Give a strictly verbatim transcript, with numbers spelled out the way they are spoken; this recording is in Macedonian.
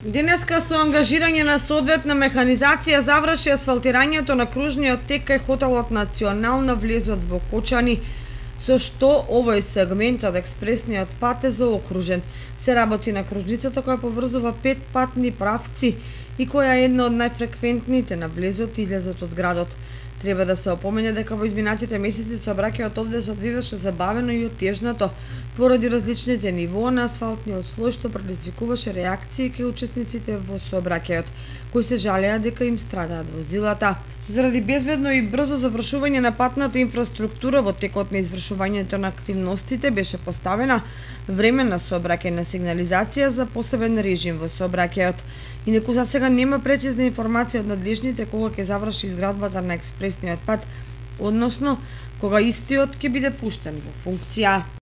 Денеска со ангажирање на соодветна механизација заврши асфалтирањето на кружниот тек кај хотелот Национална влезот во Кочани, со што овој сегмент од експресниот пат е заокружен. Се работи на кружницата која поврзува пет патни правци и која е една од најфреквентните на влезот и излезот од градот. Треба да се опомене дека во изминатите месеци сообраќајот овде се одвиваше забавено и отежнато поради различните нивоа на асфалтниот слој, што предизвикуваше реакции кај учесниците во сообраќајот, кои се жалеа дека им страдаат возилата. Заради безбедно и брзо завршување на патната инфраструктура во текот на извршувањето на активностите беше поставена временна сообраќајна сигнализација за посебен режим во сообраќајот. Инаку за сега нема прецизна информација од надлежните кога ќе заврши изградбата на експресниот пат, односно кога истиот ќе биде пуштен во функција.